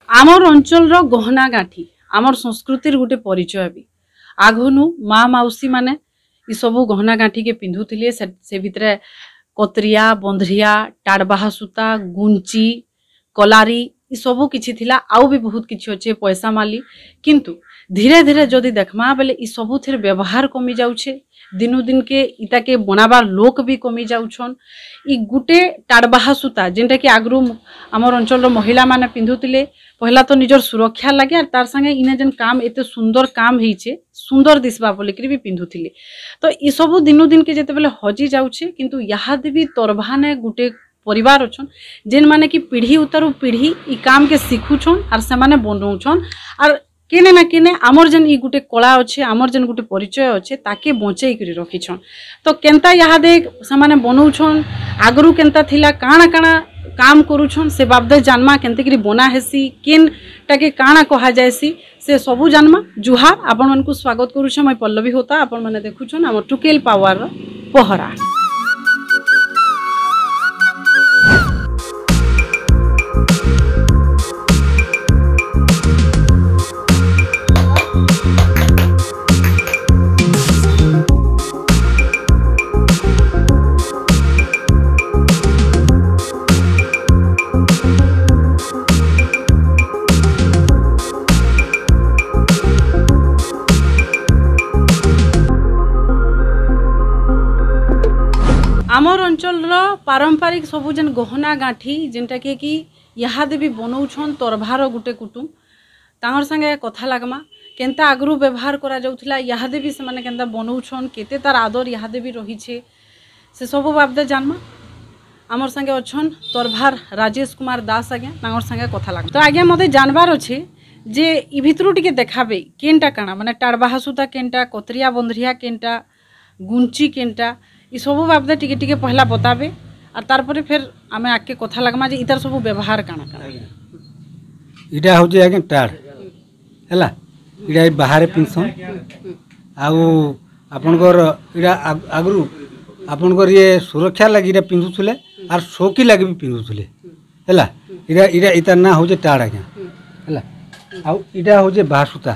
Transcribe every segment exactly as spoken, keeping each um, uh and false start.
ଆମର ଅଞ୍ଚଳର ଗହନା ଗାଣ୍ଠି, ଆମର ସଂସ୍କୃତିର ଗୋଟେ ପରିଚୟ ବି। ଆଘନୁ ମା ମାଉସୀମାନେ ଇ ସବୁ ଗହନା ଗାଣ୍ଠିକେ ପିନ୍ଧୁଥିଲେ, ସେ, ସେ ଭିତରେ କତରିଆ, ବନ୍ଧ୍ରିଆ, ଟାଡ଼ବାହା ସୂତା, ଗୁଞ୍ଚି, କଲାରି, ଇ ସବୁ କିଛି ଥିଲା, ଆଉ ବି ବହୁତ କିଛି ଅଛେ, ପଏସା ମାଲି। କିନ୍ତୁ ଧୀରେ ଧୀରେ ଯଦି ଦେଖମା ବେଲେ ଇ ସବୁଥିର ବ୍ୟବହାର କମି ଯାଉଛେ, ଦିନୁ ଦିନକେ ଇତାକେ ବନାବାର ଲୋକ ବି କମି ଯାଉଛନ୍। ଇ ଗୁଟେ ଟାଡ଼ବାହା ସୂତା, ଯେନ୍ଟାକି ଆଗରୁ ଆମର ଅଞ୍ଚଳର ମହିଳାମାନେ ପିନ୍ଧୁଥିଲେ, ପହିଲା ତ ନିଜର ସୁରକ୍ଷା ଲାଗେ, ଆର୍ ତାର ସାଙ୍ଗେ ଇନେ ଯେନ୍ କାମ, ଏତେ ସୁନ୍ଦର କାମ ହେଇଛେ, ସୁନ୍ଦର ଦିଶବା ବୋଲିକିରି ବି ପିନ୍ଧୁଥିଲେ। ତ ଇ ସବୁ ଦିନୁ ଦିନକେ ଯେତେବେଲେ ହଜି ଯାଉଛେ, କିନ୍ତୁ ଇହାଦେ ବି ତରଭାନେ ଗୁଟେ ପରିବାର ଅଛନ୍, ଯେନ୍ମାନେ କି ପିଢ଼ି ଉତାରୁ ପିଢ଼ି ଇ କାମକେ ଶିଖୁଛନ୍, ଆର୍ ସେମାନେ ବନଉଛନ୍, ଆର୍ କେନେ ନା କେନେ ଆମର ଯେନ୍ ଇ ଗୁଟେ କଳା ଅଛେ, ଆମର ଯେନ୍ ଗୁଟେ ପରିଚୟ ଅଛେ, ତାକେ ବଞ୍ଚେଇ କରି ରଖିଛନ୍। ତ କେନ୍ତା ଇହାଦେ ସେମାନେ ବନଉଛନ୍, ଆଗରୁ କେନ୍ତା ଥିଲା, କାଣା କାଣା କାମ କରୁଛନ୍, ସେ ବାବଦେ ଜାନମା, କେନ୍ତା କରି ବନା ହେସି, କେନ୍ଟାକେ କାଣା କୁହାଯାଏସି, ସେ ସବୁ ଜାନମା। ଜୁହାର, ଆପଣମାନଙ୍କୁ ସ୍ୱାଗତ କରୁଛେ, ମୁଇଁ ପଲ୍ଲବୀ ହୋତା, ଆପଣମାନେ ଦେଖୁଛନ୍ ଆମର ଟୁକେଲ ପାୱାରର ପହରା। ଆମର ଅଞ୍ଚଳର ପାରମ୍ପରିକ ସବୁ ଯେନ୍ ଗହନା ଗାଣ୍ଠି, ଯେନ୍ଟାକେ କି ଇହାଦେ ବି ବନଉଛନ୍ ତରଭାର ଗୁଟେ କୁଟୁମ, ତାଙ୍କର ସାଙ୍ଗେ କଥା ଲାଗମା, କେନ୍ତା ଆଗରୁ ବ୍ୟବହାର କରାଯାଉଥିଲା, ଇହାଦେ ବି ସେମାନେ କେନ୍ତା ବନଉଛନ୍, କେତେ ତାର ଆଦର ଇହାଦେ ବି ରହିଛେ, ସେ ସବୁ ବାବଦେ ଜାନମା। ଆମର ସାଙ୍ଗେ ଅଛନ୍ ତରଭାର ରାଜେଶ କୁମାର ଦାସ ଆଜ୍ଞା, ତାଙ୍କର ସାଙ୍ଗେ କଥା ଲାଗମା। ତ ଆଜ୍ଞା, ମତେ ଜାନବାର ଅଛେ ଯେ ଇ ଭିତରୁ ଟିକେ ଦେଖାବେ, କେନ୍ଟା କାଣା, ମାନେ ଟାଡ଼ବାହା ସୂତା କେନ୍ଟା, କତରିଆ ବନ୍ଧ୍ରିଆ କେନ୍ଟା, ଗୁଞ୍ଚି କେନ୍ଟା, ଇ ସବୁ ବାବଦେ ଟିକେ ଟିକେ ପହିଲା ବତାବେ, ଆର୍ ତାରପରେ ଫେର ଆମେ ଆଗକେ କଥା ଲାଗମା ଯେ ଇତାର ସବୁ ବ୍ୟବହାର କାଣା କାଣା। ଆଜ୍ଞା। ଇଟା ହଉଛେ ଆଜ୍ଞା ଟାଡ, ହେଲା, ଇଟା ଇ ବାହାରେ ପିନ୍ଧସନ୍। ଆଉ ଆପଣଙ୍କର ଇଟା ଆଗ-, ଆଗରୁ ଆପଣଙ୍କର ଇଏ ସୁରକ୍ଷା ଲାଗି ଇଟା ପିନ୍ଧୁଥିଲେ, ଆର୍ ସୌକି ଲାଗି ବି ପିନ୍ଧୁଥିଲେ, ହେଲା। ଇଟା, ଇଟା, ଇତାର ନାଁ ହଉଛେ ଟାଡ ଆଜ୍ଞା, ହେଲା। ଆଉ ଇଟା ହଉଛେ ବାହାସୁତା।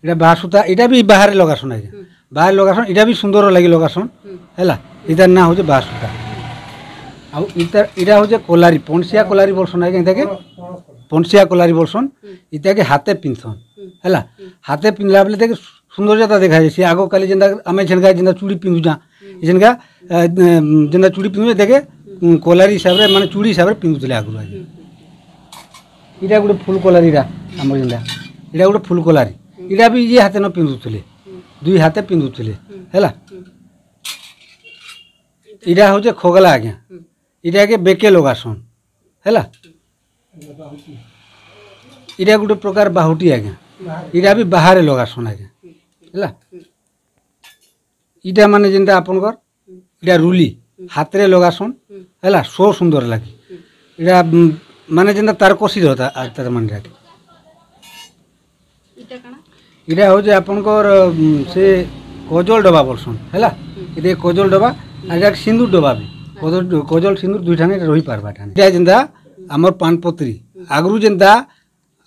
ଇଟା ବାହାସୁତା, ଇଟା ବି ବାହାରେ ଲଗାସନ୍ ଆଜ୍ଞା। ବାହାରେ ଲଗାସନ୍, ଇଟା ବି ସୁନ୍ଦର ଲାଗି ଲଗାସନ୍, ହେଲା। ଇତାର ନାଁ ହଉଛେ ବାହାସୁତା। ଆଉ ଇଟା, ଇଟା ହଉଛେ କଲାରି, ପଣସିଆ କଲାରି ବୋଲସନ୍ ଆଜ୍ଞା, ଇତାକେ ପଣସିଆ କଲାରି ବୋଲସନ୍। ଇତାକେ ହାତେ ପିନ୍ଧସନ୍, ହେଲା। ହାତେ ପିନ୍ଧଲା ବେଲେ ଇତାକେ ସୁନ୍ଦରତା ଦେଖାଯାଏ। ସେ ଆଗ କାଲି ଯେନ୍ତା ଆମେ ଝେନକା ଯେନ୍ତା ଚୁଡ଼ି ପିନ୍ଧୁଛନ୍, ଇ ଝେନକା, ଆ, ଯେନ୍ତା ଚୁଡ଼ି ପିନ୍ଧୁଛନ୍, ଇତାକେ, ଉଁ, କଲାରି ହିସାବରେ, ମାନେ ଚୁଡ଼ି ହିସାବରେ ପିନ୍ଧୁଥିଲେ ଆଗରୁ ଆଜ୍ଞା। ଇଟା ଗୋଟେ ଫୁଲ କଲାରି, ଇଟା ଆମର ଯେନ୍ତା, ଇଟା ଗୋଟେ ଫୁଲ କଲାରି। ଇଟା ବି ଇଏ ହାତେ ନ ପିନ୍ଧୁଥିଲେ, ଦୁଇ ହାତେ ପିନ୍ଧୁଥିଲେ, ହେଲା। ଇଟା ହଉଛେ ଖଗଲା ଆଜ୍ଞା, ଇଟାକେ ବେକେ ଲଗାସନ୍, ହେଲା। ଇଟା ଗୋଟେ ପ୍ରକାର ବାହୁଟି ଆଜ୍ଞା, ଇଟା ବି ବାହାରେ ଲଗାସନ୍ ଆଜ୍ଞା, ହେଲା। ଇଟା ମାନେ ଯେନ୍ତା ଆପଣଙ୍କର, ଇଟା ରୁଲି, ହାତରେ ଲଗାସନ୍, ହେଲା, ସୋ ସୁନ୍ଦର ଲାଗେ। ଇଟା, ଉଁ, ମାନେ ଯେନ୍ତା ତାରକସି ରହତା, ଆ, ତାର ମାନେ ଇଟା। ଇଟା କାଣା? ଇଟା ହଉଛେ ଆପଣଙ୍କର, ଉଁ, ସେ କଜଲ ଡବା ବୋଲସନ୍, ହେଲା। ଇଟା କଜଲ ଡବା, ଆଉ ଇଟା ସିନ୍ଦୁର ଡବା ବି। କଜଲ, କଜଲ ସିନ୍ଦୁର ଦୁଇଠାନେ ରହି ପାରବା ଠାନେ। ଇଟା ଯେନ୍ତା ଆମର ପାନପତ୍ରୀ, ଆଗରୁ ଯେନ୍ତା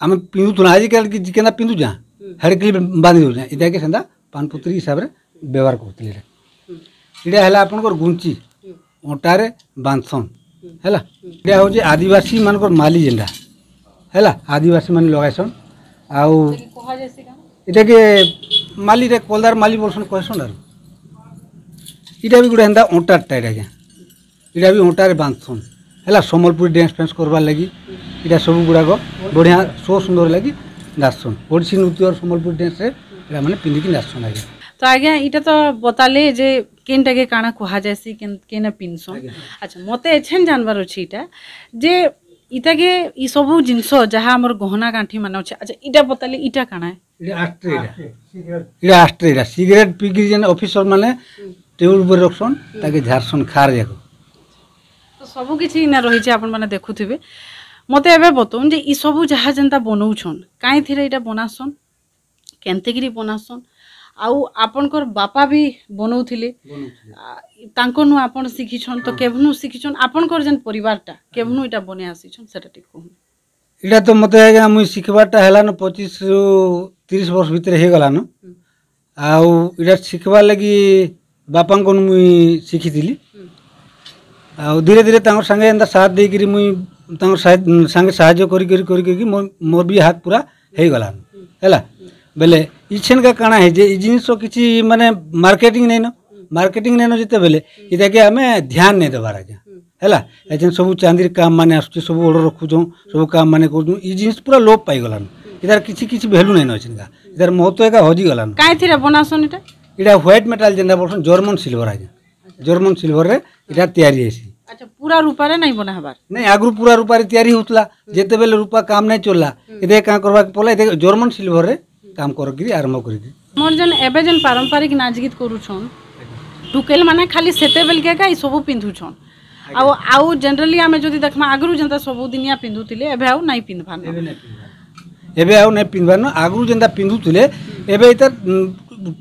ଆମେ ପିନ୍ଧୁଥିଲୁ, ଆଜିକାଲି କି କେନ୍ତା ପିନ୍ଧୁଛନ୍, ହେଡ଼କ୍ଲିପ୍ ବାନ୍ଧି ଦଉଛନ୍, ଇଟାକେ ସେନ୍ତା ପାନପତ୍ରୀ ହିସାବରେ ବ୍ୟବହାର କରୁଥିଲେ। ଇଟା, ଇଟା ହେଲା ଆପଣଙ୍କର ଗୁଞ୍ଚି, ଅଣ୍ଟାରେ ବାନ୍ଧସନ୍, ହେଲା। ଇଟା ହଉଛେ ଆଦିବାସୀ ମାନଙ୍କର ମାଲି ଯେନ୍ତା, ହେଲା, ଆଦିବାସୀ ମାନେ ଲଗାଇସନ୍। ଆଉ ଇଟାକେ ମାଲିରେ, କଲଦାର ମାଲି ବୋଲସନ୍, କହେସନ୍। ଆରୁ ଇଟା ବି ଗୋଟେ ହେନ୍ତା ଅଣ୍ଟାରଟା, ଇଟା ଆଜ୍ଞା। ଇଟା ବି ଅଣ୍ଟାରେ ବାନ୍ଧସନ୍, ହେଲା, ସମ୍ବଲପୁରୀ ଡ୍ୟାନ୍ସ ଫ୍ୟାନ୍ସ କରବାର ଲାଗି। ଇଟା ସବୁ ଗୁଡ଼ାକ ବଢ଼ିଆ, ସୋ ସୁନ୍ଦର ଲାଗି ନାଚସନ୍। ଓଡ଼ିଶୀ ନୃତ୍ୟର ସମ୍ବଲପୁରୀ ଡ୍ୟାନ୍ସରେ ଇଟା ମାନେ ପିନ୍ଧିକି ନାଚସନ୍ ଆଜ୍ଞା। ତ ଆଜ୍ଞା, ଇଟା ତ ବତାଲେ ଯେ କେନ୍ଟାକେ କାଣା କୁହାଯାଏସି, କେନ୍-, କେନେ ପିନ୍ଧସନ୍। ଆଜ୍ଞା। ଆଚ୍ଛା, ମତେ ଏଛେନ୍ ଜାନବାର ଅଛି ଇଟା, ଯେ ଇଟାକେ, ଇ ସବୁ ଜିନିଷ ଯାହା ଆମର ଗହନା ଗାଣ୍ଠି ମାନେ ଅଛେ, ଆଚ୍ଛା, ଇଟା ବତାଲେ, ଇଟା କାଣା? ଇଟା ଆଷ୍ଟରେ, ଇଟା। ଇଟା ଆଷ୍ଟରେ, ଇଟା। ସିଗାରେଟ ପିଇକିରି ଯେନ୍ ଅଫିସର ମାନେ ଟେବୁଲ ଉପରେ ରଖସନ୍, ତାକେ ଝାରସନ୍ ଖାର ଯାକ। ତ ସବୁ କିଛି ଇନା ରହିଛେ, ଆପଣମାନେ ଦେଖୁଥିବେ। ମତେ ଏବେ ବତଉନ୍ ଯେ ଇ ସବୁ ଯାହା ଯେନ୍ତା ବନଉଛନ୍, କାଏଁଥିରେ ଇଟା ବନାସନ୍, କେନ୍ତେକିରି ବନାସନ୍, ଆଉ ଆପଣଙ୍କର ବାପା ବି ବନଉଥିଲେ, ବନଉଥିଲେ। ଆ, ତାଙ୍କନୁ ଆପଣ ଶିଖିଛନ୍, ତ ହଁ। କେଭନୁ ଶିଖିଛନ୍, ଆପଣଙ୍କର ଯେନ୍ ପରିବାରଟା, କେଭନୁ ଇଟା ବନେଇ ଆସିଛନ୍, ସେଟା ଟିକେ କହୁନ୍। ଇଟା ତ ମତେ ଆଜ୍ଞା, ମୁଇଁ ଶିଖବାରଟା ହେଲାନ ପଚିଶ ରୁ ତିରିଶ ବର୍ଷ ଭିତରେ ହେଇଗଲାନ। ହୁଁ। ଆଉ ଇଟା ଶିଖବାର ଲାଗି ବାପାଙ୍କନୁ ମୁଇଁ ଶିଖିଥିଲି। ହୁଁ। ଆଉ ଧୀରେ ଧୀରେ ତାଙ୍କର ସାଙ୍ଗେ ଏନ୍ତା ସାଥ ଦେଇକିରି ମୁଇଁ ତାଙ୍କର ସାହା-, ସାଙ୍ଗେ ସାହାଯ୍ୟ କରି କରି କରି କରିକି ମୋର, ମୋର ବି ହାତ ପୁରା ହେଇଗଲାନ। ହୁଁ। ହେଲା? ହୁଁ। ବେଲେ ଇଛେନକା କାଣା ହେଇଛେ, ଇ ଜିନିଷର କିଛି ମାନେ ମାର୍କେଟିଂ ନାଇନ। ହୁଁ। ମାର୍କେଟିଂ ନାଇନ ଯେତେବେଲେ, ହୁଁ, ଇଟାକେ ଆମେ ଧ୍ୟାନ ନାଇଁ ଦେବାର ଆଜ୍ଞା। ହୁଁ। ହେଲା? ଏଛେନ ସବୁ ଚାନ୍ଦିର କାମ ମାନେ ଆସୁଛେ, ସବୁ ଅର୍ଡର ରଖୁଛନ୍, ସବୁ କାମ ମାନେ କରୁଛନ୍। ଇ ଜିନିଷ ପୁରା ଲୋପ ପାଇଗଲାନ। ଇତାର କିଛି, କିଛି ଭ୍ୟାଲୁ ନାଇନ ଅଛିନକା। ଇତାର ମହତ୍ୱ ଏକା ହଜିଗଲାନ। କାଏଁ ଥିରେ ବନାସନ୍ ଇଟା? ଇଟା ହ୍ୱାଇଟ ମେଟାଲ ଯେନ୍ତା ବୋଲସନ୍, ଜର୍ମନ ସିଲଭର ଆଜ୍ଞା। ଜର୍ମନ ସିଲଭରରେ ଇଟା ତିଆରି ହେସି। ଆଚ୍ଛା, ପୁରା ରୂପାରେ ନାଇଁ ବନା ହବାର? ନାଇଁ, ଆଗରୁ ପୁରା ରୂପାରେ ତିଆରି ହଉଥିଲା। ହୁଁ। ଯେତେବେଳେ ରୂପା କାମ ନାଇଁ ଚଲଲା, ହୁଁ, ଏତେ କାଁ କରବାକେ ପଡଲା, ଏତେ ଜର୍ମନ ସିଲଭରରେ କାମ କରିକିରି ଆରମ୍ଭ କରିକିରି। ଆମର ଯେନ୍, ଏବେ ଯେନ୍ ପାରମ୍ପରିକ ନାଚ ଗୀତ କରୁଛନ୍, ଆଜ୍ଞା, ଟୁକେଲ ମାନେ ଖାଲି ସେତେବେଲକେ ଏକା ଇ ସବୁ ପିନ୍ଧୁଛନ୍। ଆଜ୍ଞା। ଆଉ, ଆଉ ଜେନେରାଲି ଆମେ ଯଦି ଦେଖମା, ଆଗରୁ ଯେନ୍ତା ସବୁ ଦିନିଆ ପିନ୍ଧୁଥିଲେ, ଏବେ ଆଉ ନାଇଁ ପିନ୍ଧବାର ନ। ଏବେ ନାଇଁ ପିନ୍ଧବାର। ଏବେ ଆଉ ନାଇଁ ପିନ୍ଧବାର ନ। ଆଗରୁ ଯେନ୍ତା ପିନ୍ଧୁଥିଲେ, ହୁଁ, ଏବେ ଇତାର, ଉଁ,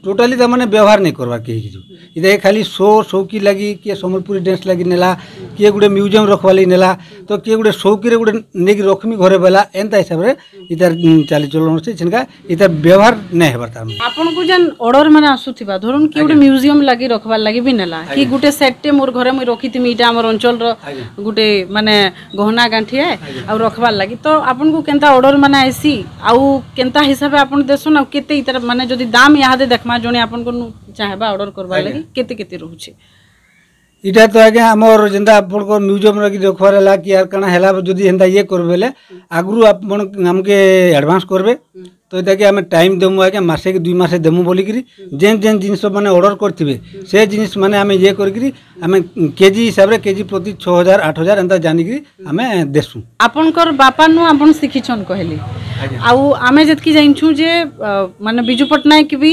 ଟୋଟାଲି ତା ମାନେ ବ୍ୟବହାର ନାଇଁ କରବାର କେହି କିଛି। ଇତାକେ ଖାଲି ଶୋ, ଶୌକି ଲାଗି, କିଏ ସମ୍ବଲପୁରୀ ଡ୍ୟାନ୍ସ ଲାଗି ନେଲା, କିଏ ଗୋଟେ ମ୍ୟୁଜିୟମ ରଖବା ଲାଗି ନେଲା, ତ କିଏ ଗୋଟେ ଶୌକିରେ ଗୋଟେ ନେଇକି ରଖମି ଘରେ ବେଲା, ଏନ୍ତା ହିସାବରେ ଇତାର, ଉଁ, ଚାଲିଚଳନ ଅଛେ, ସେନକା ଇତାର ବ୍ୟବହାର ନାଇଁ ହେବାର ତାର ମାନେ। ଆପଣଙ୍କୁ ଯେନ୍ ଅର୍ଡର ମାନେ ଆସୁଥିବା, ଧରୁନ୍ କି ଗୋଟେ, ଆଜ୍ଞା, ମ୍ୟୁଜିୟମ ଲାଗି ରଖବାର ଲାଗି ବି ନେଲା, କି, ଆଜ୍ଞା, ଗୋଟେ ସେଟଟେ ମୋର ଘରେ ମୁଇଁ ରଖିଥିମି, ଇଟା ଆମର ଅଞ୍ଚଳର, ଆଜ୍ଞା, ଗୋଟେ ମାନେ ଗହନା ଗାଣ୍ଠି ଆଏ, ଆଜ୍ଞା, ଆଉ ରଖବାର ଲାଗି। ତ ଆପଣଙ୍କୁ କେନ୍ତା ଅର୍ଡର ମାନେ ଆଇସି, ଆଉ କେନ୍ତା ହିସାବେ ଆପଣ ଦେସନ୍, ଆଉ କେତେ ଇତାର ମାନେ ଯଦି ଦାମ ଇହାଦେ ଦେଖମା, ଜଣେ ଆପଣଙ୍କୁ ନୁ ଚାହେଁବା ଅର୍ଡର କରବାର, ଆଜ୍ଞା, ଲାଗି, କେତେ କେତେ ରହୁଛେ? ଇଟା ତ ଆଜ୍ଞା ଆମର ଯେନ୍ତା ଆପଣଙ୍କର ମ୍ୟୁଜିୟମ ରେ କି ରଖବାର ହେଲା କି ଆର କାଣା ହେଲା, ଯଦି ହେନ୍ତା ଇଏ କରବେ ବେଲେ, ଆଗରୁ ଆପଣ ଆମକେ ଆଡଭାନ୍ସ କରବେ। ହୁଁ। ତ ଇଟାକେ ଆମେ ଟାଇମ ଦେମୁ ଆଜ୍ଞା, ମାସେ କି ଦୁଇ ମାସେ ଦେମୁ ବୋଲିକିରି, ହୁଁ, ଯେନ୍ ଯେନ୍ ଜିନିଷ ମାନେ ଅର୍ଡର କରିଥିବେ, ହୁଁ, ସେ ଜିନିଷ ମାନେ ଆମେ ଇଏ କରିକିରି, ଆମେ କେଜି ହିସାବରେ, କେଜି ପ୍ରତି ଛଅ ହଜାର, ଆଠ ହଜାର ଏନ୍ତା ଜାନିକିରି, ହୁଁ, ଆମେ ଦେସୁ। ଆପଣଙ୍କର ବାପା ନୁ ଆପଣ ଶିଖିଛନ୍ କହିଲେ। ଆଜ୍ଞା। ଆଉ ଆମେ ଯେତକି ଜାଣିଛୁ ଯେ, ଅ, ମାନେ ବିଜୁ ପଟ୍ଟନାୟକ ବି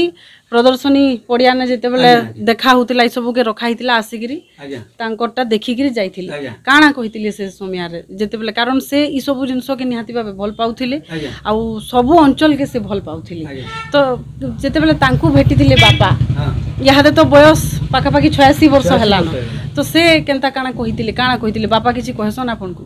ପ୍ରଦର୍ଶନୀ ପଡ଼ିଆନେ ଯେତେବେଳେ, ଆଜ୍ଞା, ଆଜ୍ଞା, ଦେଖା ହଉଥିଲା, ଏଇ ସବୁକେ ରଖା ହେଇଥିଲା ଆସିକିରି, ଆଜ୍ଞା, ତାଙ୍କରଟା ଦେଖିକିରି ଯାଇଥିଲେ। ଆଜ୍ଞା। କାଣା କହିଥିଲେ ସେ ସମୟରେ ଯେତେବେଳେ, କାରଣ ସେ ଇ ସବୁ ଜିନିଷକେ ନିହାତି ଭାବେ ଭଲ ପାଉଥିଲେ, ଆଜ୍ଞା, ଆଉ ସବୁ ଅଞ୍ଚଳକେ ସେ ଭଲ ପାଉଥିଲେ। ଆଜ୍ଞା। ତ ଯେତେବେଳେ ତାଙ୍କୁ ଭେଟିଥିଲେ ବାପା, ହଁ, ଇହାଦେ ତ ବୟସ ପାଖାପାଖି ଛୟାଅଶୀ ବର୍ଷ, ଛୟାଅଶୀ ହେଲାନ। ବର୍ଷ ହେଲାନ। ତ ସେ କେନ୍ତା କାଣା କହିଥିଲେ, କାଣା କହିଥିଲେ, ବାପା କିଛି କହେସନ୍ ଆପଣଙ୍କୁ?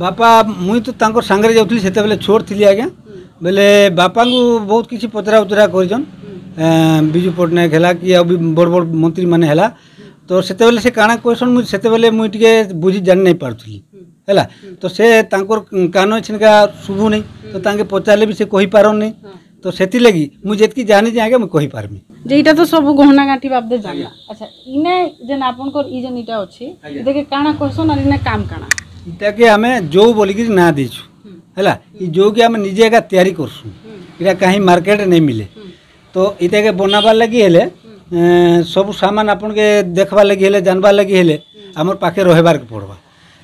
ବାପା, ମୁଇଁ ତ ତାଙ୍କର ସାଙ୍ଗରେ ଯାଉଥିଲି, ସେତେବେଳେ ଛୋଟ ଥିଲି ଆଜ୍ଞା। ହୁଁ। ବେଲେ ବାପାଙ୍କୁ ବହୁତ କିଛି ପଚରା ଉଚରା କରିଛନ୍। ହୁଁ। ଏ, ବିଜୁ ପଟ୍ଟନାୟକ ହେଲା କି ଆଉ ବି ବଡ଼ ବଡ଼ ମନ୍ତ୍ରୀ ମାନେ ହେଲା। ହୁଁ। ତ ସେତେବେଳେ ସେ କାଣା କହେସନ୍, ମୁଇଁ ସେତେବେଳେ ମୁଇଁ ଟିକେ ବୁଝି ଜାଣି ନାଇଁ ପାରୁଥିଲି। ହୁଁ। ହେଲା। ହୁଁ। ତ ସେ ତାଙ୍କର କାନ ଛିନକା ଶୁଭୁ ନାଇଁ। ତ, ହୁଁ, ତାଙ୍କେ ପଚାରିଲେ ବି ସେ କହିପାରନ୍ ନାଇଁ। ହଁ। ତ ସେଥିଲାଗି ମୁଇଁ ଯେତକି ଜାଣିଛେ ଆଜ୍ଞା, ମୁଇଁ କହିପାରମି। ଯେ ଇଟା ତ ସବୁ ଗହନା ଗାଣ୍ଠି ବାବଦେ ଜାଣଲା। ଆଜ୍ଞା। ଆଚ୍ଛା, ଇନେ ଯେନ୍ ଆପଣଙ୍କର ଇ ଯେନ୍ ଇଟା ଅଛି, ଆଜ୍ଞା, ଇଟାକେ କାଣା କହସନ୍ ଆର୍ ଇନେ କାମ କାଣା? ଇଟାକେ ଆମେ ଜଉ ବୋଲିକିରି ନାଁ ଦେଇଛୁ। ହୁଁ। ହେଲା? ଇ, ହୁଁ, ଜଉକେ ଆମେ ନିଜେ ଏକା ତିଆରି କରସୁଁ। ହୁଁ। ଇଟା କାହିଁ ମାର୍କେଟରେ ନାଇଁ ମିଲେ। ହୁଁ। ତ ଇଟାକେ ବନାବାର ଲାଗି ହେଲେ, ହୁଁ, ଏ, ସବୁ ସାମାନ ଆପଣକେ ଦେଖବାର ଲାଗି ହେଲେ, ଜାନବାର ଲାଗି ହେଲେ, ହୁଁ, ଆମର ପାଖେ ରହିବାରକେ ପଡ଼ବା।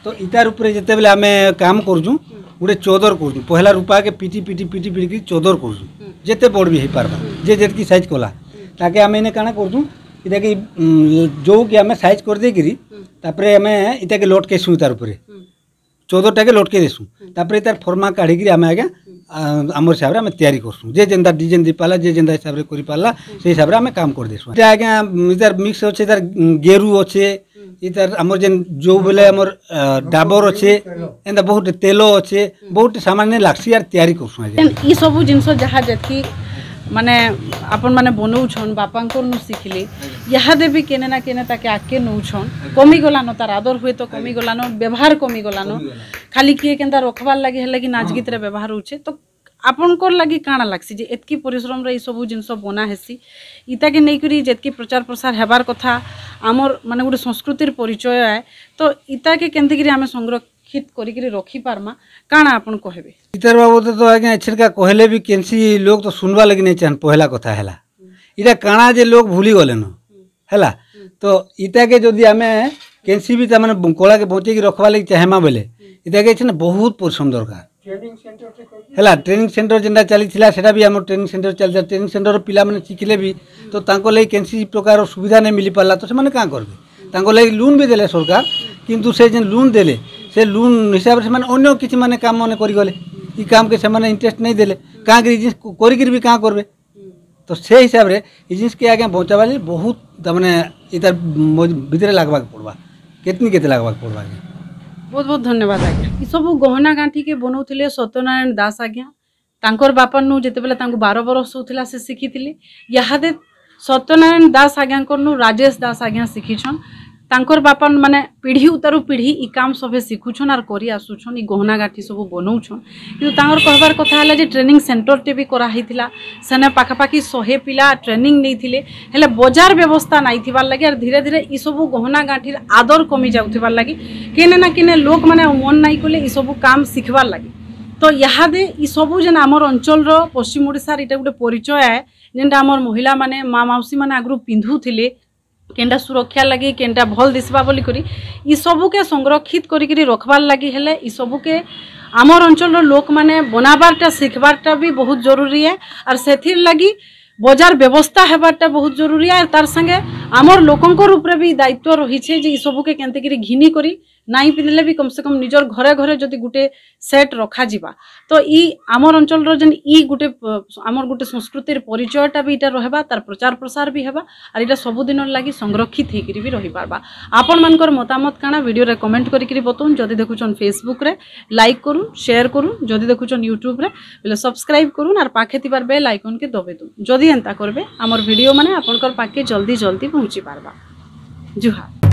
ତ ଇତାର ଉପରେ ଯେତେବେଳେ ଆମେ କାମ କରୁଛୁ, ହୁଁ, ଗୋଟେ ଚଦର କରୁଛୁ। ପହିଲା ରୂପାକେ ପିଟି, ପିଟି, ପିଟି, ପିଟିକି ଚଦର କରୁଛୁ। ହୁଁ। ଯେତେ ବଡ଼ ବି ହେଇପାରବା, ହୁଁ, ଯେ ଯେତକି ସାଇଜ କଲା, ହୁଁ, ତାକେ ଆମେ ଏଇନେ କାଣା କରୁଛୁ, ଇଟାକେ, ଉଁ, ଜଉକେ ଆମେ ସାଇଜ କରିଦେଇକିରି, ହୁଁ, ତାପରେ ଆମେ ଇଟାକେ ଲଟକେଇସୁଁ ଇତାର ଉପରେ। ହୁଁ। ଚଦରଟାକେ ଲଟକେଇ ଦେସୁଁ। ହୁଁ। ତାପରେ ତାର ଫର୍ମା କାଢ଼ିକିରି ଆମେ ଆଜ୍ଞା, ହୁଁ, ଆ, ଆମର ହିସାବରେ ଆମେ ତିଆରି କରସୁଁ। ଯେ ଯେନ୍ତା ଡିଜାଇନ ଦେଇପାରିଲା, ଯେ ଯେନ୍ତା ହିସାବରେ କରିପାରିଲା, ହୁଁ, ସେଇ ହିସାବରେ ଆମେ କାମ କରିଦେସୁଁ। ଇଟା ଆଜ୍ଞା, ଇତାର ମିକ୍ସ ଅଛେ, ତାର, ଉଁ, ଗେରୁ ଅଛେ, ହୁଁ, ଇତାର ଆମର ଯେନ୍ ଜଉ ବେଲେ ଆମର, ଆ, ଡାବର ଅଛେ, ତେଲ। ଏନ୍ତା ବହୁତ ତେଲ ଅଛେ, ହୁଁ, ବହୁତ ସାମାନ ନେ ଲାଗ୍ସି ଆର୍ ତିଆରି କରସୁଁ ଆଜ୍ଞା। ଇ ସବୁ ଜିନିଷ ଯାହା ଯେତକି ମାନେ ଆପଣମାନେ ବନଉଛନ୍, ବାପାଙ୍କର ନୁ ଶିଖିଲେ, ଆଜ୍ଞା, ଇହାଦେ ବି କେନେ ନା କେନେ ତାକେ ଆଗକେ ନଉଛନ୍। ଆଜ୍ଞା। କମିଗଲାନ, ତାର ଆଦର ହୁଏ ତ, ଆଜ୍ଞା, କମିଗଲାନ, ବ୍ୟବହାର କମିଗଲାନ। କମିଗଲା। ଖାଲି କିଏ କେନ୍ତା ରଖବାର ଲାଗି ହେଲେ କି ନାଚ, ହଁ, ଗୀତରେ ବ୍ୟବହାର ହଉଛେ, ତ ଆପଣଙ୍କର ଲାଗି କାଣା ଲାଗ୍ସି ଯେ ଏତକି ପରିଶ୍ରମରେ ଇ ସବୁ ଜିନିଷ ବନା ହେସି? ଇତାକେ ନେଇକରି ଯେତକି ପ୍ରଚାର ପ୍ରସାର ହେବାର କଥା, ଆମର ମାନେ ଗୋଟେ ସଂସ୍କୃତିର ପରିଚୟ ଆଏ, ତ ଇତାକେ କେନ୍ତିକିରି ଆମେ ସଂରକ୍ଷିତ କରିକିରି ରଖିପାରମା, କାଣା ଆପଣ କହିବେ? ଇତାର ବାବଦରେ ତ ଆଜ୍ଞା ଏଛେନକା କହିଲେ ବି କେନ୍ସି ଲୋକ ତ ଶୁନବା ଲାଗି ନାଇଁ ଚାହନ୍, ପହେଲା କଥା ହେଲା। ଇଟା କାଣା ଯେ ଲୋକ ଭୁଲି ଗଲେନ, ହେଲା? ତ ଇଟାକେ ଯଦି ଆମେ କେନ୍ସି ବି ତାମାନେ ବ-, କଳାକେ ବଞ୍ଚେଇକି ରଖବା ଲାଗି ଚାହେମା ବେଲେ, ଇଟାକେ ଏଛେନ ବହୁତ ପରିଶ୍ରମ ଦରକାର। ହେଲା, ଟ୍ରେନିଂ ସେଣ୍ଟର ଯେନ୍ତା ଚାଲିଥିଲା, ସେଟା ବି ଆମର ଟ୍ରେନିଂ ସେଣ୍ଟର ଚାଲିଥିଲା। ଟ୍ରେନିଂ ସେଣ୍ଟରର ପିଲାମାନେ ଶିଖିଲେ ବି, ତ ତାଙ୍କ ଲାଗି କେନ୍ସି ପ୍ରକାର ସୁବିଧା ନାଇଁ ମିଲି ପାରିଲା, ତ ସେମାନେ କାଁ କରିବେ? ତାଙ୍କ ଲାଗି ଲୋନ୍ ବି ଦେଲେ ସରକାର, କିନ୍ତୁ ସେ ଯେନ୍ ଲୋନ୍ ଦେଲେ, ସେ ଲୋନ୍ ହିସାବରେ ସେମାନେ ଅନ୍ୟ କିଛି ମାନେ କାମ ମାନେ କରିଗଲେ। ଇ କାମକେ ସେମାନେ ଇଣ୍ଟରେଷ୍ଟ ନାଇଁ ଦେଲେ, କାଁ କରି ଇ ଜିନିଷ କ-, କରିକିରି ବି କାଁ କରିବେ? ତ ସେ ହିସାବରେ ଇ ଜିନିଷକେ ଆଜ୍ଞା ବଞ୍ଚାବାର୍ ଲାଗି ବହୁତ, ତାମାନେ, ଇତାର ମ-, ଭିତରେ ଲାଗ୍ବାକେ ପଡ଼ବା, କେତନି କେତେ ଲାଗ୍ବାକେ ପଡ଼ବା ଆଜ୍ଞା। ବହୁତ ବହୁତ ଧନ୍ୟବାଦ ଆଜ୍ଞା। ଇ ସବୁ ଗହନା ଗାଣ୍ଠି କେ ବନଉଥିଲେ ସତ୍ୟନାରାୟଣ ଦାସ ଆଜ୍ଞା। ତାଙ୍କର ବାପା ନୁ ଯେତେବେଳେ ତାଙ୍କୁ ବାର ବରଷ ହଉଥିଲା, ସେ ଶିଖିଥିଲେ। ଇହାଦେ ସତ୍ୟନାରାୟଣ ଦାସ ଆଜ୍ଞାଙ୍କର ନୁ ରାଜେଶ ଦାସ ଆଜ୍ଞା ଶିଖିଛନ୍। ତାଙ୍କର ବାପା ମାନେ ପିଢ଼ି ଉତାରୁ ପିଢ଼ି ଇ କାମ ସଭେ ଶିଖୁଛନ୍ ଆର୍ କରି ଆସୁଛନ୍, ଇ ଗହନା ଗାଣ୍ଠି ସବୁ ବନଉଛନ୍। କିନ୍ତୁ ତାଙ୍କର କହିବାର କଥା ହେଲା ଯେ ଟ୍ରେନିଂ ସେଣ୍ଟରଟେ ବି କରାହେଇଥିଲା, ସେନେ ପାଖାପାଖି ଶହେ ପିଲା ଟ୍ରେନିଂ ନେଇଥିଲେ, ହେଲେ ବଜାର ବ୍ୟବସ୍ଥା ନାଇଁ ଥିବାର ଲାଗି ଆର୍ ଧୀରେ ଧୀରେ ଇ ସବୁ ଗହନା ଗାଣ୍ଠିର ଆଦର କମି ଯାଉଥିବାର ଲାଗି କେନେ ନା କେନେ ଲୋକମାନେ ଆଉ ମନ ନାଇଁ କଲେ ଇ ସବୁ କାମ ଶିଖବାର ଲାଗି। ତ ଇହାଦେ ଇ ସବୁ ଯେନ୍ ଆମର ଅଞ୍ଚଳର, ପଶ୍ଚିମ ଓଡ଼ିଶାର ଇଟା ଗୋଟେ ପରିଚୟ ଆଏ, ଯେନ୍ଟା ଆମର ମହିଳାମାନେ, ମା ମାଉସୀମାନେ ଆଗରୁ ପିନ୍ଧୁଥିଲେ, କେନ୍ଟା ସୁରକ୍ଷା ଲାଗି, କେନ୍ଟା ଭଲ ଦିଶବା ବୋଲିକରି, ଇ ସବୁକେ ସଂରକ୍ଷିତ କରିକିରି ରଖବାର ଲାଗି ହେଲେ ଇ ସବୁକେ ଆମର ଅଞ୍ଚଳର ଲୋକମାନେ ବନାବାରଟା, ଶିଖବାରଟା ବି ବହୁତ ଜରୁରୀ ଏ। ଆର୍ ସେଥିର ଲାଗି ବଜାର ବ୍ୟବସ୍ଥା ହେବାରଟା ବହୁତ ଜରୁରୀ ଏ। ଆର୍ ତାର ସାଙ୍ଗେ ଆମର ଲୋକଙ୍କର ଉପରେ ବି ଦାୟିତ୍ୱ ରହିଛେ ଯେ ଇ ସବୁକେ କେନ୍ତିକିରି ଘିନି କରି ନାଇଁ ପିନ୍ଧଲେ ବି କମ ସେ କମ ନିଜର ଘରେ ଘରେ ଯଦି ଗୋଟେ ସେଟ୍ ରଖାଯିବା, ତ ଇ ଆମର ଅଞ୍ଚଳର ଯେନ୍ ଇ ଗୋଟେ, ପ-, ଆମର ଗୋଟେ ସଂସ୍କୃତିର ପରିଚୟଟା ବି ଇଟା ରହେବା, ତାର ପ୍ରଚାର ପ୍ରସାର ବି ହେବା, ଆର୍ ଇଟା ସବୁଦିନର ଲାଗି ସଂରକ୍ଷିତ ହେଇକିରି ବି ରହିପାରବା। ଆପଣମାନଙ୍କର ମତାମତ କାଣା ଭିଡ଼ିଓରେ କମେଣ୍ଟ କରିକିରି ବତଉନ୍। ଯଦି ଦେଖୁଛନ୍ Facebookରେ, ଲାଇକ୍ କରୁନ୍, ସେୟାର କରୁନ୍। ଯଦି ଦେଖୁଛନ୍ YouTubeରେ, ବେଲେ ସବସ୍କ୍ରାଇବ୍ କରୁନ୍, ଆର୍ ପାଖେ ଥିବାର ବେଲ୍ ଆଇକନ୍କେ ଦବେଇ ଦଉନ୍। ଯଦି ଏନ୍ତା କରବେ, ଆମର ଭିଡ଼ିଓ ମାନେ ଆପଣଙ୍କର ପାଖକେ ଜଲ୍ଦି ଜଲ୍ଦି ପହଞ୍ଚି ପାରବା। ଜୁହାର।